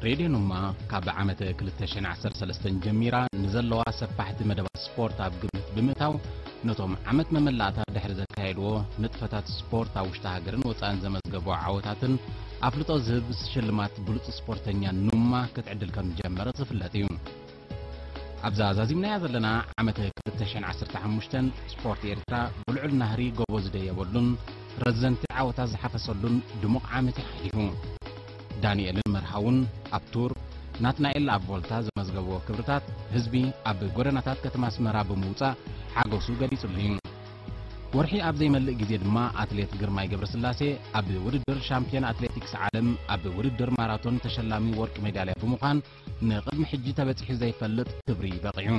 ሬድዮ ኑማ ካብ ዓመት ክልተ ሽሕን ዓሰርተ ሰለስተን ጀሚራ ንዘለዋ ሰፋሕቲ መደባት ስፖርት ኣብ ግምት ብምእታው፣ ነቶም ዓመት መመላእታ ድሕሪ ዘካየድዎ ንጥፈታት ስፖርት ኣብ ውሽጢ ሃገርን ወጻእን ዘመዝገቦ ዓወታትን ኣፍልጦ ዝህብ ሽልማት ብሉጽ ስፖርተኛ ኑማ ክትዕድል ከም ዝጀመረት ዝፍለጥ እዩ። ኣብዛ ዛዚምናያ ዘለና ዓመተ ክልተ ሽሕን ዓሰርተ ሓሙሽተን ስፖርት ኤርትራ ብልዑል ናህሪ ጎቦ ዝደየበሉን ረዘንቲ ዓወታት ዝሓፈሰሉን ድሙቕ ዓመት እዩ ሓሊፉ። ዳንኤልን መርሃውን ኣብ ቱር፣ ናትናኤል ኣብ ቮልታ ዘመዝገብዎ ክብርታት ህዝቢ ኣብ ጎደናታት ከተማ ኣስመራ ብምውጻእ ሓጎሱ ገሊጹሉ እዩ። ወርሒ ኣብ ዘይመልእ ግዜ ድማ ኣትሌት ግርማይ ገብረስላሴ ኣብ ውድድር ሻምፒዮን ኣትሌቲክስ ዓለም ኣብ ውድድር ማራቶን ተሸላሚ ወርቂ ሜዳልያ ብምዃን ንቕድሚ ሕጂ ተበጺሑ ዘይፈልጥ ክብሪ በቒዑ።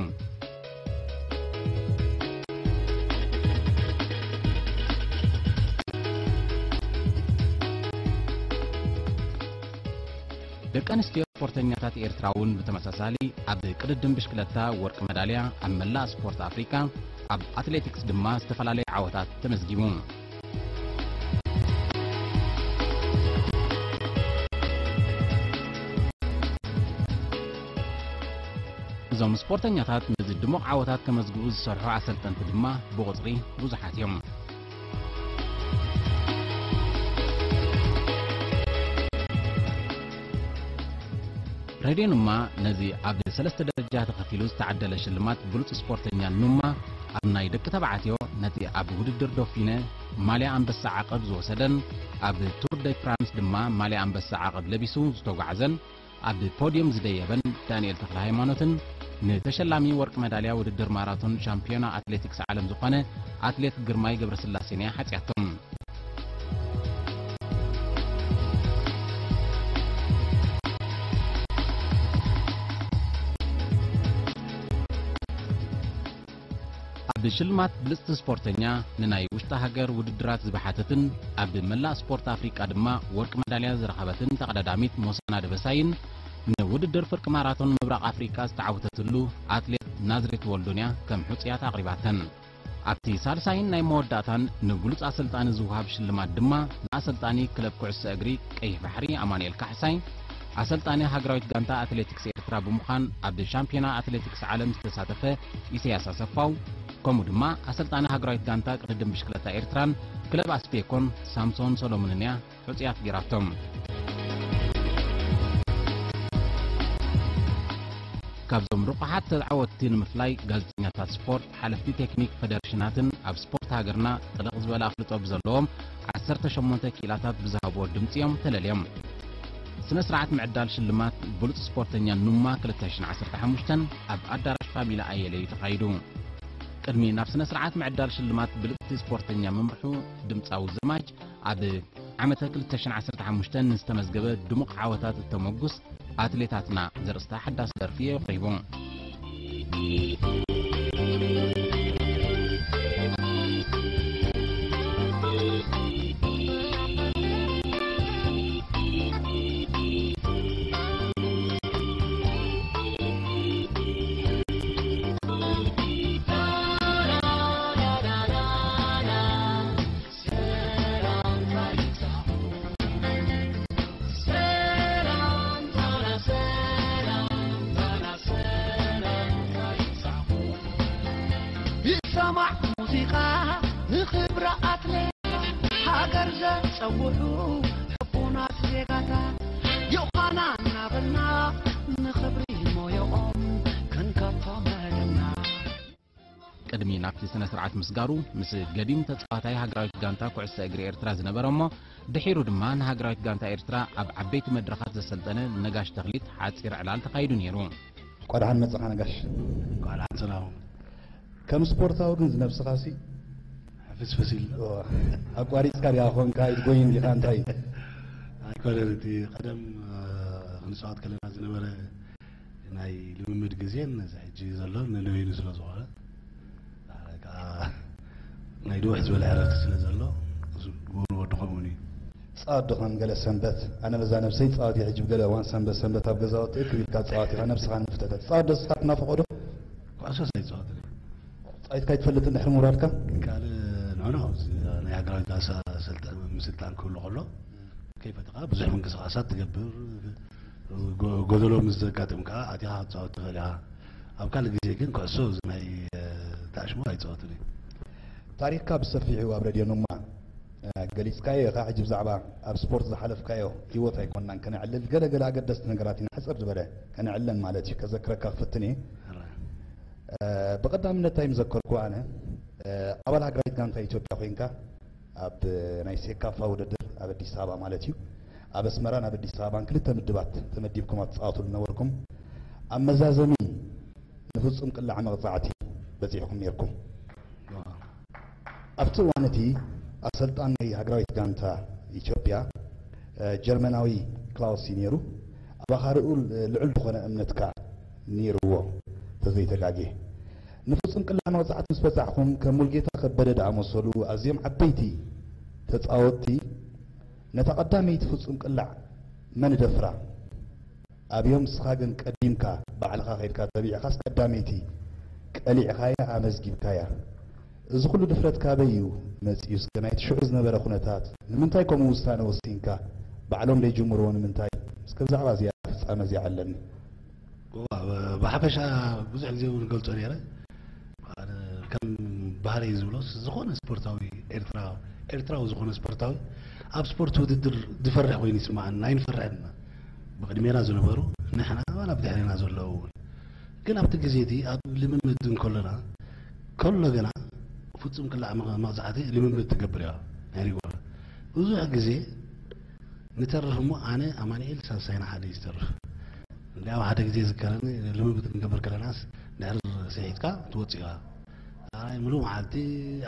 ደቂ ኣንስትዮ ስፖርተኛታት ኤርትራ እውን ብተመሳሳሊ ኣብ ቅድድም ብሽክለታ ወርቂ መዳልያ፣ ኣብ መላእ ስፖርት ኣፍሪቃ ኣብ ኣትሌቲክስ ድማ ዝተፈላለዩ ዓወታት ተመዝጊቡ። እዞም ስፖርተኛታት ነዚ ድሙቕ ዓወታት ከመዝግቡ ዝሰርሑ ኣሰልጠንቲ ድማ ብቑጽሪ ብዙሓት እዮም። ሬድዮ ኑማ ነዚ ኣብ ሰለስተ ደረጃ ተኸፊሉ ዝተዓደለ ሽልማት ብሉጽ ስፖርተኛ ኑማ፣ ኣብ ናይ ደቂ ተባዕትዮ ነቲ ኣብ ውድድር ዶፊነ ማልያ ኣንበሳ ዓቐብ ዝወሰደን ኣብ ቱር ደ ፍራንስ ድማ ማልያ ኣንበሳ ዓቐብ ለቢሱ ዝተጓዕዘን ኣብ ፖድዮም ዝደየበን ዳንኤል ተኽለ ሃይማኖትን ንተሸላሚ ወርቂ መዳልያ ውድድር ማራቶን ሻምፒዮና ኣትሌቲክስ ዓለም ዝኾነ ኣትሌት ግርማይ ገብረስላሴን እያ ሓጽያቶም። ኣብ ሽልማት ብልጽቲ ስፖርተኛ ንናይ ውሽጢ ሃገር ውድድራት ዝብሓተትን ኣብ መላእ ስፖርት ኣፍሪቃ ድማ ወርቂ መዳልያ ዝረኸበትን ተቐዳዳሚት ሞሳና ደበሳይን ንውድድር ፍርቂ ማራቶን ምብራቕ ኣፍሪቃ ዝተዓወተትሉ ኣትሌት ናዝሬት ወልዱንያ ከም ሕጹያት ኣቕሪባተን። ኣብቲ ሳልሳይን ናይ መወዳእታን ንብሉጽ ኣሰልጣኒ ዝወሃብ ሽልማት ድማ ንኣሰልጣኒ ክለብ ኩዕሶ እግሪ ቀይሕ ባሕሪ ኣማኑኤል ካሕሳይ፣ ኣሰልጣኒ ሃገራዊት ጋንታ ኣትሌቲክስ ኤርትራ ብምዃን ኣብ ሻምፒዮና ኣትሌቲክስ ዓለም ዝተሳተፈ ኢሳያስ ኣሰፋው፣ ከምኡ ድማ ኣሰልጣኒ ሃገራዊት ጋንታ ቅድድም ብሽክለታ ኤርትራን ክለብ ኣስፔኮን ሳምሶን ሰሎሞንን እያ ሕጹያት ጌራቶም። ካብዞም ርቑሓት ተዓወትቲ ንምፍላይ ጋዜጠኛታት ስፖርት፣ ሓለፍቲ ቴክኒክ ፈደረሽናትን ኣብ ስፖርት ሃገርና ጥልቕ ዝበለ ኣፍልጦ ብዘለዎም ዓሰርተ ሸሞንተ ክኢላታት ብዝሃብዎ ድምጺ እዮም ተለልዮም። ስነ ስርዓት ምዕዳል ሽልማት ብሉጽ ስፖርተኛ ኑማ ክልተ ሽሕን ዓሰርተ ሓሙሽተን ኣብ ኣዳራሽ ፋሚላ ኣየለ እዩ ተኻይዱ። ቅድሚ ናብ ስነ ስርዓት ምዕዳል ሽልማት ብልጽቲ ስፖርተኛ ምምርሑ ድምጻዊ ዘማች ኣብ ዓመተ ክልተ ሽሕን ዓሰርተ ሓሙሽተን ንዝተመዝገበ ድሙቕ ዓወታት እተመጉስ ኣትሌታትና ዘርእስታ ሓዳስ ደርፊ የቕሪቡ። ይሰማዕ ሙዚቃ ንኽብሪ ኣትሌት ሃገር ዘጸውዑ ሕቡናት ዜጋታት ዮኻና እናበልና ንኽብሪ ሞዮኦም ክንከቶም መደብና። ቅድሚ ናብቲ ስነ ስርዓት ምስጋሩ ምስ ገዲም ተጻዋታይ ሃገራዊት ጋንታ ኩዕሶ እግሪ ኤርትራ ዝነበረ እሞ ድሒሩ ድማ ንሃገራዊት ጋንታ ኤርትራ ኣብ ዓበይቲ መድረኻት ዘሰልጠነ ነጋሽ ተኽሊት ሓጺር ዕላል ተኻይዱ ነይሩ። እንኳዕ ደሓን መጻኻ ነጋሽ። እንኳዕ ደሓን ሰላም። ከም ስፖርታዊ ግን ዝነብስኻሲ ሕፍስፍስ ኢሉ። ኦ፣ ኣቋሪጽካ ዲኻ ኮንካ ኢትጎይን ዲኻ እንታይ? ኣይኮነን፣ እቲ ቀደም፣ እ፣ ክንጻወት ከለና ዝነበረ ናይ ልምምድ ግዜን እዚ ሕጂ ዘሎ ነንበይኑ ስለ ዝኾነ፣ ዳሕራይ ከኣ ናይ ድውሕ ዝበለ ዕረፍቲ ስለ ዘሎ፣ እዚ ወዲ ከምኡ እዩ። ጻወት ዶ ከም ገለ ሰንበት? ኣነ በዛ ነብሰይ ጻወት እየ ሕጂ፣ ብገለ እዋን ሰንበት ሰንበት ኣብ ገዛ ወጥየ ክብ ኢልካ ጻወት ኢኻ፣ ነብስኻ ንምፍተተት። ጻወት ዶ ንስኻ ትናፍቖ ዶ? ኩዕሶስ ኣይጻወትን እየ። ጻዊትካ ኣይትፈልጥን ድሕሪ ምውራድካ? ካልእ ንሕና ኣብዚ ናይ ሃገራዊት ጋንታ ሰልጠ-፣ ምስልጣን ክህሉ ከሎ፣ ከይፈተኻ ብዙሕ ምንቅስቓሳት ትገብር፣ ጎ- ጎደሎ ምስ ዘጋጥም ከዓ ኣቲኻ ክትፃወት ትኽእል ኢኻ። ኣብ ካልእ ግዜ ግን ኩዕሶ እዚ ናይ እ፣ ታሽሞ ኣይፃወትን እዩ። ታሪኽካ ብሰፊሑ ኣብ ረድዮ ኑማ እ፣ ገሊጽካዮ ኢኻ። ሕጂ ብዛዕባ ኣብ ስፖርት ዝሓለፍካዮ ህይወት ኣይኮንናን ከነዕልል፣ ገለ ገለ ኣገደስቲ ነገራት ኢና ሕጽር ዝበለ ከነዕለን ማለት እዩ። ከዘክረካ ክፍትን እየ። እ፣ ብቐዳምነት እንታይ ምዘከርኩ ኣነ እ፣ ኣባል ሃገራዊት ጋንታ ኢትዮጵያ ኮይንካ ኣብ ናይ ሴካፋ ውድድር ኣብ ኣዲስ ኣበባ ማለት እዩ ኣብ ኣስመራን ኣብ ኣዲስ ኣበባን ክልተ ምድባት ተመዲብኩም ኣብ ትፃወትሉ ነበርኩም ኣብ መዛዘሚ ንፍጹም ቅላዕ መቕጻዕቲ በጺሕኩም ነርኩም። ኣብቲ እዋን እቲ ኣሰልጣን ናይ ሃገራዊት ጋንታ ኢትዮጵያ ጀርመናዊ ክላውስ እዩ ነይሩ። ኣባኻ ርኡ ልዑል ዝኾነ እምነትካ ነይርዎ ተዘይተጋጌ። ንፍጹም ቅላዕ መቕጻዕቲ ምስ በጻሕኩም ከም ሙልጌታ ከበደ ዝኣመሰሉ ኣዝዮም ዓበይቲ ተጻወትቲ ነታ ቀዳመይቲ ፍጹም ቅላዕ መን ደፍራ? ኣብዮም ንስኻ ግን ቀዲምካ ባዕልኻ ከይድካ ተቢዕኻስ ቀዳመይቲ ቀሊዕኻያ ኣመዝጊብካያ። እዚ ኩሉ ድፍረት ካበይ እዩ መጺኡ? እስከ ናይቲ ሽዑ ዝነበረ ኩነታት ንምንታይ ከምኡ ውሳነ ወሲንካ? ባዕሎም ደይጅምርዎ ንምንታይ? እስከ ብዛዕባ እዚኣ ፍጻመ እዚኣ ዓለኒ። ብሓፈሻ ብዙሕ ግዜ እውን ገልጾ ነይረ ከም ባህረይ ዝብሎስ ዝኾነ ስፖርታዊ ኤርትራ ኤርትራዊ ዝኾነ ስፖርታዊ ኣብ ስፖርት ውድድር ዝፈርሕ ኮይኑ ይስማዓና ኣይንፈርሕን። ብቕድሜና ዝነበሩ ንሕና ዋላ ብድሕሬና ዘለዉ እውን ግን ኣብቲ ግዜ እቲ ኣብ ልምምድ እንከሎና ከሎ ገና ፍጹም ቅላዕ መቕዛዕቲ ልምምድ ትገብር እያ ናይ ሪጎል ብዙሕ ግዜ ንተርፍ እሞ ኣነ ኣማንኤል ሳልሳይና ሓደ ዝተርፍ እንዲያው ሓደ ግዜ ዝከረኒ ልምምድ ክንገብር ከለናስ ድሕር ስሒትካ ትወፅእ ኢኻ ኣይ ሙሉ መዓልቲ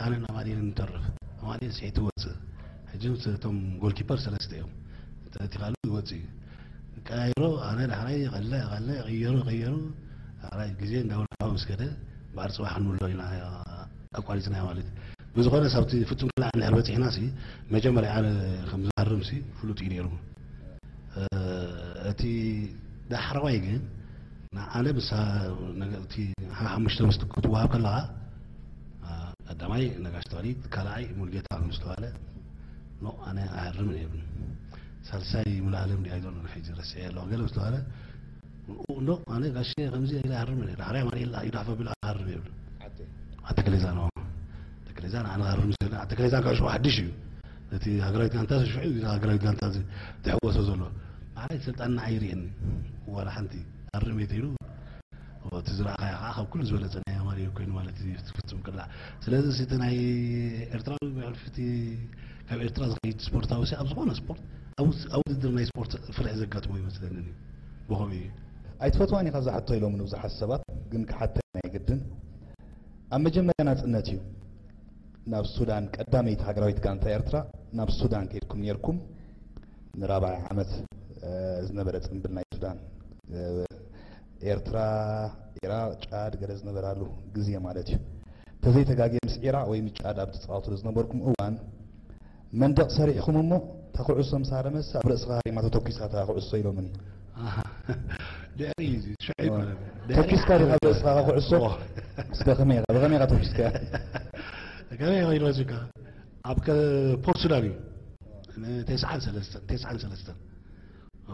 ኣነን ኣማንኤልን ንተርፍ ኣማንኤል ስሒት ትወፅእ ሕጂ እቶም ጎልኪፐር ሰለስተ እዮም ተቲኻሉ ይወፅእ እዩ ቀያይሮ ኣነ ዳሕራይ ቀለ ቀለ ቀየሩ ቀየሩ ዳሕራይ ግዜ እንዳወልካው ምስ ከደ ባዕሪ ፅባሕ ክንብሎ ኢና ኣቋሪፅና ማለት ብዝኾነ ሳብቲ ፍጹም ክላዕ እንድሕር በፂሕና ሲ መጀመርያ ኣነ ከም ዝሃርም ሲ ፍሉጥ እዩ ነይሩ እቲ ዳሕረዋይ ግን ንዓለም እቲ ሓሙሽተ ምስ ክትወሃብ ከለኻ ቀዳማይ ነጋሽ ተኽሊት ካልኣይ ሙልጌታ ምስ ተባለ ኖ ኣነ ኣሃርምን እየ ሳልሳይ ሙሉኣለም ድያ ኣይዶን ሕጂ ረስዐ ኣለኹ ገለ ምስ ተባለ እንዶ ኣነ ጋሼ ከምዚ ኢለ ኣርም እየ ዳሕራይ ኣማኑኤል ይዳሕፈ ቢሉ ኣርም ይብል ኣተክሌዛ ነው ኣተክሌዛ ንዓና ኣርም ስለ ኣተክሌዛ ጋሽ ሓድሽ እዩ እቲ ሃገራዊት ጋንታ ሽዑ ሃገራዊት ጋንታ ዝሕወሶ ዘሎ ንዓይ ስልጣን ንዓይ ይርእየኒ ዋላ ሓንቲ ኣርም እየ ተይሉ እቲ ዝረኣኻዮ ከዓ ካብ ኩሉ ዝበለፀ ናይ ኣማኑኤል ኮይኑ ማለት እዩ ፍፁም ቅላዕ ስለዚ እቲ ናይ ኤርትራዊ ብሕልፊ እቲ ካብ ኤርትራ ዝኸይድ ስፖርታዊ ኣብ ዝኾነ ስፖርት ኣብ ውድድር ናይ ስፖርት ፍርሒ ዘጋጥሞ ይመስለኒ ብኸምኡ እዩ ኣይትፈትዋን ኢኻ ዝሓቶ ኢሎም ንብዙሓት ሰባት ግን ክሓተና የግድን ኣብ መጀመርያ ናፅነት እዩ ናብ ሱዳን ቀዳመይቲ ሃገራዊት ጋንታ ኤርትራ ናብ ሱዳን ከይድኩም ነርኩም ንራብዓይ ዓመት ዝነበረ ፅንብል ናይ ሱዳን ኤርትራ ኢራቅ ጫድ ገለ ዝነበራሉ ግዜ ማለት እዩ ተዘይተጋግየ ምስ ኢራቅ ወይ ምስ ጫድ ኣብ ትፃወትሉ ዝነበርኩም እዋን መንደቕ ሰሪሕኹም እሞ እታ ኩዕሶ ምስ ሃረመስ ኣብ ርእስኻ ሃሪማ ተተኲሳ እታ ኩዕሶ ኢሎምኒ ድሕሪ ሽዑ ይኮነ ተኲስካ ዲኻ ኣብ ርእስኻ ኩዕሶ እስከ ከመይ ኢኻ ብኸመይ ኢኻ ተኲስካ ከመይ ኢኻ ኢልወዝካ ኣብ ፖርት ሱዳን እዩ ተስዓን ሰለስተን ተስዓን ሰለስተን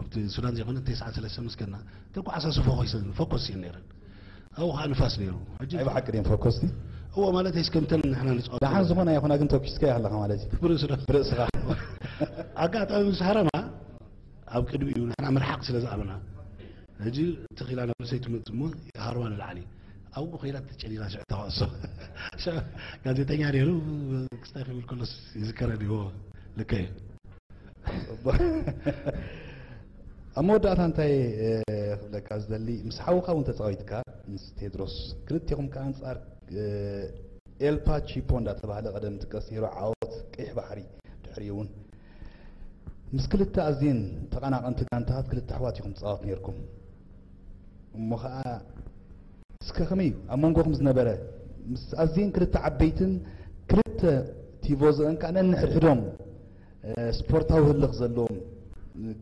ኣብቲ ሱዳን ዘይኮነ ተስዓን ሰለስተን ምስከና ተጓዓሳ ስፎ ኮይሰን ፎኮስ እየን ነይረን ኣብኡ ከዓ ንፋስ ነይሩ ሕጂ ናይ ብሓቂ ድም ፈኮስቲ እዎ ማለት ስ ከምተን ንሕና ንፃወት ደሓን ዝኾነ ይኹና ግን ተኪስካ ኣለኻ ማለት እዩ ብርእስና ብርእስኻ ኣጋጣሚ ምስ ሃረማ ኣብ ቅድሚ እዩ ንሕና ምርሓቅ ስለ ዝኣበና ሕጂ ተኺላ ናብ ርእሰይ ትመጽእ እሞ ሃርማ ንላዕሊ ኣብኡ ከይዳ ተጨሊላ ሽዕ ተዋእሶ ጋዜጠኛ ነይሩ ክስታይ ክብል ከሎስ ይዝከረኒ ይዎ ልከ እዩ ኣብ መወዳእታ እንታይ ክብለካ ዝደሊ ምስ ሓውኻ እውን ተፃዊትካ ምስ ቴድሮስ ክልቴኹም ከዓ ኣንፃር ኤልፓ ቺፖ እንዳተባህለ ቀደም ትቀስ ነይሩ ዓወት ቀይሕ ባሕሪ ድሕሪኡ እውን ምስ ክልተ ኣዝየን ተቐናቐንቲ ጋንታታት ክልተ ኣሕዋት ኢኹም ትፃወት ነይርኩም እሞ ከዓ እስከ ከመይ ኣብ መንጎኹም ዝነበረ ምስ ኣዝየን ክልተ ዓበይትን ክልተ ቲቮዘአን ከዓ ነንሕድሕዶም ስፖርታዊ ህልኽ ዘለዎም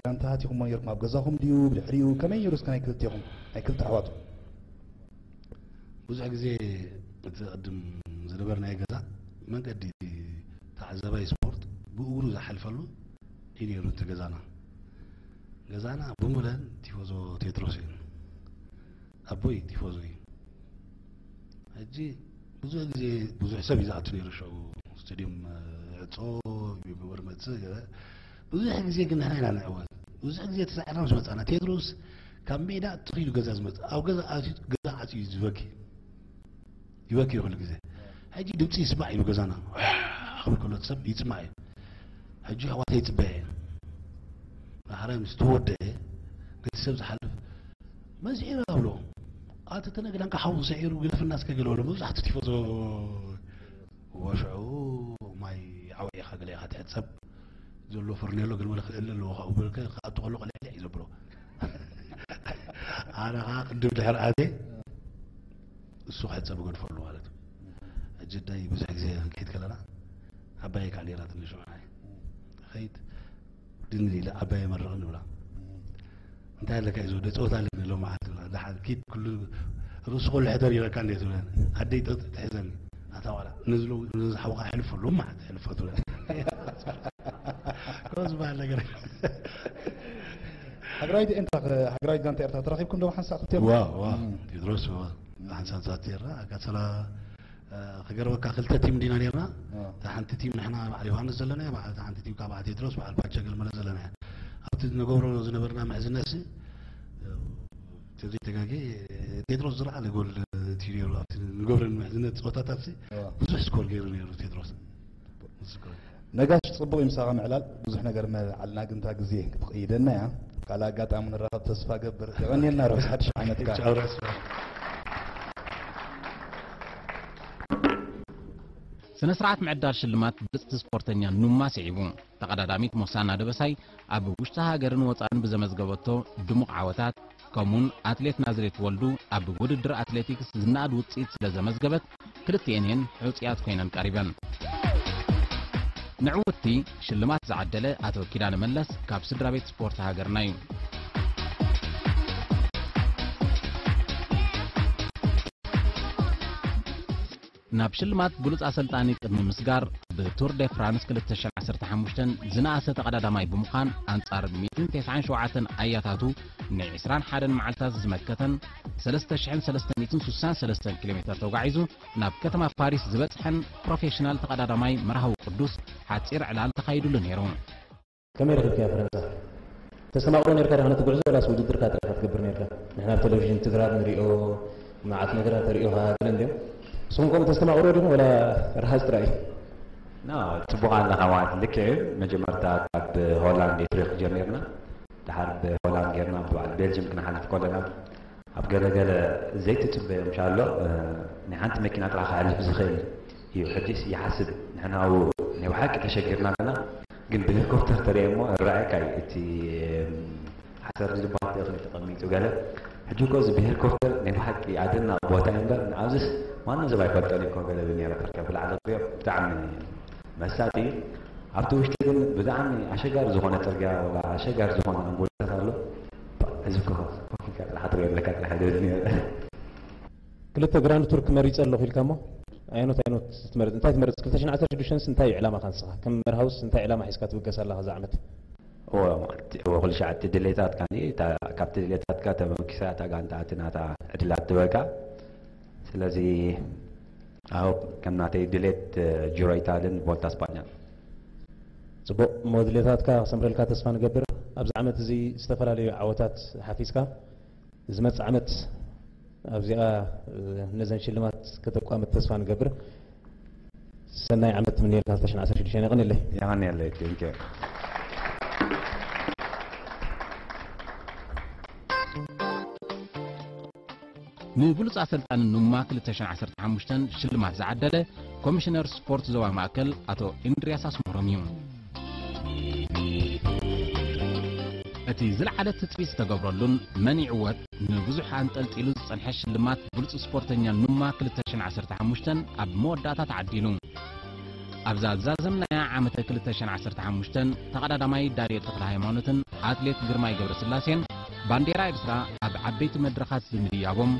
ጋንታታት ኢኹም ነይርኩም ኣብ ገዛኹም ድዩ ብድሕሪኡ ከመይ ነይሩ እስከ ናይ ክልቴኹም ናይ ክልተ ኣሕዋትኩም ብዙሕ ግዜ እቲ ቅድም ዝነበርናዮ ገዛ መንገዲ ተዓዛባይ ስፖርት ብእግሩ ዝሓልፈሉ እዩ ነይሩ እቲ ገዛና ገዛና ብሙለን ቲፎዞ ቴድሮስ እዩ። ኣቦይ ቲፎዞ እዩ። ሕጂ ብዙሕ ግዜ ብዙሕ ሰብ እዩ ዝኣቱ ነይሩ። ሽዑ ስቴድዮም ዕጾ ይግበር መጽእ ገለ። ብዙሕ ግዜ ግን ንሕና ኢና ንዕወት። ብዙሕ ግዜ ተሳዒርና ምስ መጻና ቴድሮስ ካብ ሜዳ ትኺሉ ገዛ ዝመጽእ፣ ኣብ ገዛ ኣትዩ ገዛ ዓጽዩ እዩ ዝበኪ። ይበኪ ኩሉ ግዜ። ሕጂ ድምፂ ይስማዕ እዩ ገዛና። ክብል ከሎ ሰብ ይስማዕ እዩ። ሕጂ ኣሕዋተይ ይፅበያ እየ። ዳሕራይ ምስ ተወደአ ነቲ ሰብ ዝሓልፍ መዚዕና ኣብሎ። ኣቲ ተነግዳንካ ሓው ሰዒሩ ግደፍና እስከ ገለ በሎ። መብዛሕትኡ ቲፎዞ ወሽዑ ማይ ዓውዒኻ ገለ ኢኻ ትሕጸብ ዘሎ ፈርኔሎ ገለ መለ ክእል ኣለዎ ካብኡ በልከ ክኣቱ ከሎ ቀልዕልዕ እዩ ዘብሎ። ኣነ ኸዓ ቅድም ድሕር ኣትየ እሱ ክሕጸብ እገድፈሉ ማለት እዩ። ሕጂ ኣደይ ብዙሕ ግዜ ክንከይድ ከለና ዓባየይ ከዓ ነይራ ትንሽ ንዓይ። ኸይድ ድን ኢለ ዓባየይ መርቕኒ ንብላ። እንታይ ኣለካ እዩ ዝወደ ጸወታ ኣለኒ ሎማዓንቲ ብላ። ደሓን ኪድ ኩሉ ርእሱ ኩሉ ሕደር ይበካ እንዴ ትብለኒ። ኣደይ ጠጥ ትሕዘኒ። ኣታ ዋላ ነዚ ሎ-፣ ነዚ ሓውኻ ሕልፈሉ ሎማዓንቲ ሕልፎ ትብለኒ። ከምኡ ዝበሃል ነገር። ሃገራዊት ኤንታ ሃገራዊት ጋንታ ኤርትራ ተራኺብኩም ዶ ሓንሳእ ክልቲኦም? ዋው፣ ዋው። እም። ቴድሮስ፣ ዋው። ሓንሳብ ዛት ኤርትራ፣ ኣጋሰላ፣ እ፣ ክገርመካ ክልተ ቲም ዲና ነርና። እ። እታ ሓንቲ ቲም ንሕና በዓል ዮሃንስ ዘለናያ፣ በዓል፣ እታ ሓንቲ ቲም ካብ በዓል ቴድሮስ፣ በዓል ፓቸ ገልመለ ዘለናያ። ኣብቲ ንገብሮ ዝነበርና ምሕዝነትሲ፣ እ፣ ተዘይተጋጌ፣ ቴድሮስ ዝረኣለ ጎል እቲ ነይሩ። ኣብቲ ንገብረን ምሕዝነት ጸወታታትሲ፣ እ። ብዙሕ ስኮር ገይሩ ነይሩ ቴድሮስ። ነጋሽ፣ ጽቡቕ እዩ ምሳኻ ምዕላል፣ ብዙሕ ነገር መዓልና፣ ግን እታ ግዜ ክትቕይደና እያ። ካልእ ኣጋጣሚ ንራኸብ ተስፋ ገብር። የቐንየልና ርሑስ ሓድሽ ዓመትካ። ቻው፣ ራስ። ስነ ስርዓት ምዕዳል ሽልማት ብልጽቲ ስፖርተኛ ኑማ ስዒቡ። ተቐዳዳሚት ሞሳና ደበሳይ ኣብ ውሽጢ ሃገርን ወጻእን ብዘመዝገበቶ ድሙቕ ዓወታት፣ ከምኡውን ኣትሌት ናዝሬት ወልዱ ኣብ ውድድር ኣትሌቲክስ ዝነኣድ ውጽኢት ስለ ዘመዝገበት፣ ክልቲኤን እየን ሕጹያት ኮይነን ቀሪበን። ንዕውትቲ ሽልማት ዝዓደለ ኣቶ ኪዳነ መለስ ካብ ስድራ ቤት ስፖርት ሃገርና እዩ። ናብ ሽልማት ብሉጽ ኣሰልጣኒ ቅድሚ ምስጋር፣ ብቱር ደ ፍራንስ ክልተ ሽሕን ዓሰርተ ሓሙሽተን ዝነኣሰ ተቐዳዳማይ ብምዃን፣ ኣንጻር ሚእትን ተስዓን ሸውዓተን ኣያታቱ ንዒስራን ሓደን መዓልታት ዝመከተን፣ ሰለስተ ሽሕን ሰለስተ ሚእትን ስሳን ሰለስተን ኪሎ ሜተር ተጓዒዙ ናብ ከተማ ፓሪስ ዝበጽሐን ፕሮፌሽናል ተቐዳዳማይ መርሃዊ ቅዱስ፣ ሓጺር ዕላል ተኻይዱሉ ነይሩ። ከመይ ረኺብካያ ፈረንሳ? ተስተማቕሮ ነርካ ዲኻ ነቲ ጉዕዞ፣ ዋላስ ውድድርካ ጥራይ ኢኻ ትገብር ነርካ? ንሕና ኣብ ቴሌቪዥን ትግራብ ንሪኦ፣ መዓት ነገራት ተሪኦኻ ገለ እንድዮም። ንስኹም ከምኡ ተስተማቕሮ ዲኹም፣ ዋላ ረሃጽ ጥራይ እዩ? ና፣ ጽቡቕ ኣለኻ ማለት ልክዕ እዩ። መጀመርታ ካብ ሆላንድ ኢትሪክ ጀሚርና፣ ድሓር ብሆላንድ ጌርና፣ ብበዓል ቤልጅም ክንሓልፍ ከለና፣ ኣብ ገለ ገለ ዘይትጽበዮ ምሻሎ፣ እ፣ ናይ ሓንቲ መኪና ጥራሕ ክሕልፍ ዝኽእል እዩ። ሕጂስ ይሓስብ፣ ንሕና ኣብኡ ናይ ብሓቂ ተሸጊርና ኣለና፣ ግን ብሄሊኮፕተር ተሪኤ እሞ ይረኣየካ እዩ። እቲ፣ እም፣ ሓሰር ዝበሃል እኽሊ ተቐሚጡ ገለ። ሕጂ እኮ እዚ ብሄሊኮፕተር ናይ ብሓቂ ኣደናቒ ቦታ እዩ እምበር፣ ንኣብዚስ ማንም ሰብ ኣይፈልጦን እዩ እኮ ገለ ዝብል ነይረ። ተርከብ ብላዕሊ ክሪኦ ብጣዕሚ መሳጢ እዩ። ኣብቲ ውሽጢ ግን ብጣዕሚ ኣሸጋሪ ዝኾነ ጽርግያ፣ ወላ ኣሸጋሪ ዝኾነ ኣምቡላታት ኣሎ። እዚ እኮ ኮፍ ኢልካ ጥራሕ ትሪኦ ኣለካ ጥራሕ እዩ ዝብል ነይሩ። ክልተ ግራንድ ቱር ክመሪጸ ኣለኹ ኢልካ እሞ፣ ኣየኖት ኣየኖት ትመርጽ? እንታይ ትመርጽ? ክልተ ሽሕን ዓሰርተ ሽዱሽተንስ እንታይ እዩ ዕላማኻ ንስኻ? ከም መርሃውስ እንታይ ዕላማ ሒዝካ ትብገስ ኣለኻ እዛ ዓመት? እወ፣ ማለት፣ እወ፣ ኩሉ ሻዕ እቲ ድሌታትካ፣ እታ፣ ካብቲ ድሌታትካ ተበጊሳ እታ ጋንታ እቲ ናታ ዕድላት ትበካ። ስለዚ፣ ኣዎ፣ ከም ናተይ ድሌት፣ እ፣ ጂሮ ኢታልን ቮልታ ስጳኛን። ጽቡቕ፣ እሞ ድሌታትካ ክሰምረልካ ተስፋ ንገብር። ኣብዚ ዓመት እዚ ዝተፈላለዩ ዓወታት ሓፊዝካ፣ ዝመጽእ ዓመት ኣብዚኣ፣ እ፣ ነዘን ሽልማት ከተቋምት ተስፋ ንገብር። ሰናይ ዓመት ትምነየልካ ክልተ ሽሕን ዓሰርተ ሽዱሽተን። የቐንየለይ። የቐንየለይ። Thank you። ንብሉጽ ኣሰልጣኒ ኑማ ክልተ ሽሕን ዓሰርተ ሓሙሽተን ሽልማት ዝዓደለ ኮሚሽነር ስፖርት ዞባ ማእከል ኣቶ እንድርያስ ኣስመሮም እዩ። እቲ ዝለዓለ ትጽቢት ዝተገብረሉን መን ይዕወት ንብዙሕ ኣንጠልጢሉ ዝጸንሐ ሽልማት ብሉጽ ስፖርተኛ ኑማ ክልተ ሽሕን ዓሰርተ ሓሙሽተን ኣብ መወዳእታ ተዓዲሉ። ኣብዛ ዝዛዘምናያ ዓመተ ክልተ ሽሕን ዓሰርተ ሓሙሽተን ተቐዳዳማይ ዳንኤል ተኽለሃይማኖትን ኣትሌት ግርማይ ገብረስላሴን ባንዴራ ኤርትራ ኣብ ዓበይቲ መድረኻት ብምድያቦም፣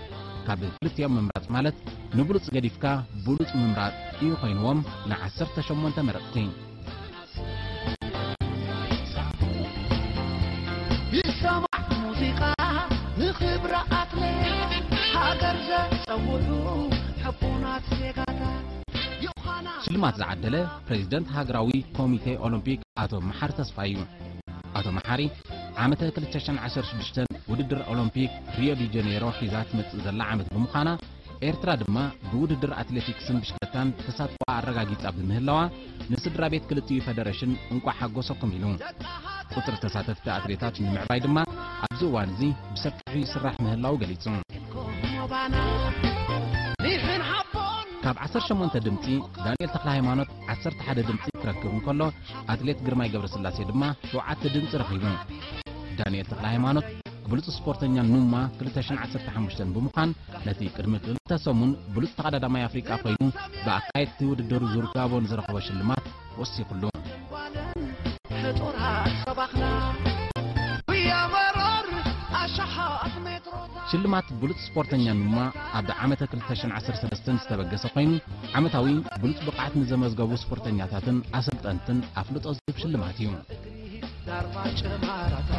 ካብ ክልቲኦም ምምራጽ ማለት ንብሉጽ ገዲፍካ ብሉጽ ምምራጽ እዩ ኮይንዎም ንዓሰርተ ሸሞንተ መረጽቲ። ይሰማዕ ሙዚቃ ንኽብሪ ኣትሌት ሃገር ዘጸውዑ ሕቡናት ዜጋታት ዮሃና ሽልማት ዝዓደለ ፕሬዚደንት ሃገራዊ ኮሚቴ ኦሎምፒክ ኣቶ መሓሪ ተስፋይ እዩ። ኣቶ መሓሪ ዓመተ ክልተ ሽሕን ዓሰርተ ሽዱሽተን ውድድር ኦሎምፒክ ሪዮ ዲ ጀኔሮ ሒዛ ትመጽእ ዘላ ዓመት ብምዃና፣ ኤርትራ ድማ ብውድድር ኣትሌቲክስን ብሽክለታን ተሳትፎኣ ኣረጋጊጻ ብምህላዋ፣ ንስድራ ቤት ክልቲኡ ፈደረሽን እንቋዕ ሓጎሰኩም ኢሉ። ቁጽሪ ተሳተፍቲ ኣትሌታት ንምዕባይ ድማ ኣብዚ እዋን እዚ ብሰፊሑ ይስራሕ ምህላው ገሊጹ። ካብ ዓሰርተ ሸሞንተ ድምጺ ዳንኤል ተኽለ ሃይማኖት ዓሰርተ ሓደ ድምጺ ክረክብ እንከሎ፣ ኣትሌት ግርማይ ገብረስላሴ ድማ ሸውዓተ ድምጺ ረኺቡ። ዳንኤል ተኽለ ሃይማኖት ብሉጽ ስፖርተኛ ኑማ ክልተ ሽሕን ዓሰርተ ሓሙሽተን ብምዃን ነቲ ቅድሚ ክልተ ሰሙን ብሉጽ ተቐዳዳማይ ኣፍሪቃ ኮይኑ ብኣካየድቲ ውድድር ዙር ጋቦን ዝረኸቦ ሽልማት ወሲኹሉ። ሕጡራት ሰባኽና ብያመሮር ኣሽሓት ሜትሮታት ሽልማት ብሉጽ ስፖርተኛ ኑማ ኣብ ዓመተ ክልተ ሽሕን ዓሰርተ ሰለስተን ዝተበገሰ ኮይኑ ዓመታዊ ብሉጽ ብቕዓት ንዘመዝገቡ ስፖርተኛታትን ኣሰልጠንትን ኣፍልጦ ዝህብ ሽልማት እዩ። ዳርባ ጭማራታ